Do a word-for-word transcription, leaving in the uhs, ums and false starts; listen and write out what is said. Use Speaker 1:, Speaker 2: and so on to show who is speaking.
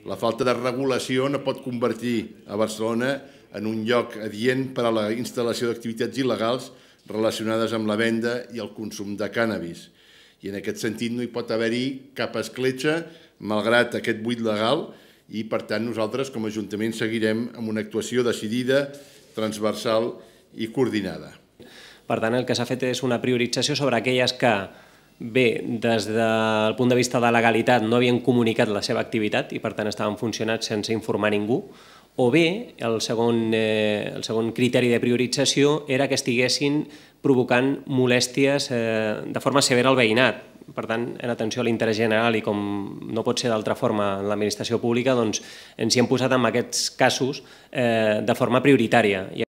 Speaker 1: La falta de regulació no pot convertir a Barcelona en un lloc adient per a la instal·lació d'activitats il·legals relacionades amb la venda i el consum de cànnabis. I en aquest sentit no hi pot haver-hi cap escletxa, malgrat aquest buit legal, i per tant nosaltres com a Ajuntament seguirem amb una actuació decidida, transversal i coordinada.
Speaker 2: Per tant, el que s'ha fet és una priorització sobre aquelles que, bé, des del punt de vista de legalitat no havien comunicat la seva activitat i per tant estaven funcionats sense informar ningú, o bé, el segon, eh, el segon criteri de priorització era que estiguessin provocant molèsties eh, de forma severa al veïnat. Per tant, en atenció a l'interès general i com no pot ser d'altra forma en l'administració pública, doncs ens hi hem posat en aquests casos eh, de forma prioritària. I